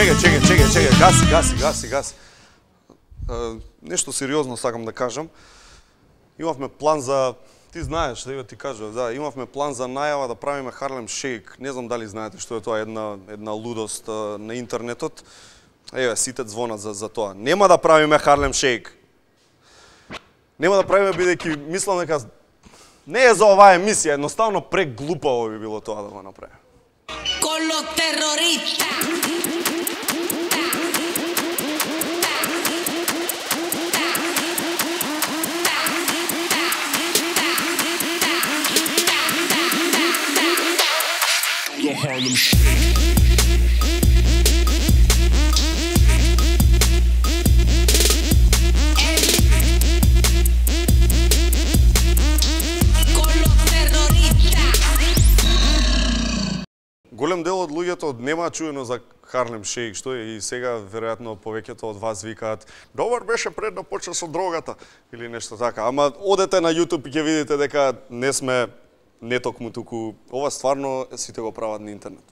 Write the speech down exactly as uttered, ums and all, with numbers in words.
чекај, чекај, чекај, чекај, гаси, гаси, гаси, гаси. Uh, нешто сериозно сакам да кажам. Имавме план за, ти знаеш, да ти кажа, да, имавме план за најава да правиме Харлем Шейк. Не знам дали знаете што е тоа, една една лудост uh, на интернетот. Еве, сите звонат за за тоа. Нема да правиме Харлем Шейк. Нема да правиме бидејќи мислам дека не е за оваа емисија, едноставно преглупаво би било тоа да го направиме. Con los terroristas. The Harlem Shake. Голем дел од луѓето нема чуено за Харлем Шейк, што е и сега веројатно повеќето од вас викаат добар беше пред да почне со дрогата или нешто така. Ама одете на YouTube и ќе видите дека не сме не токму туку, ова стварно сите го прават на интернет.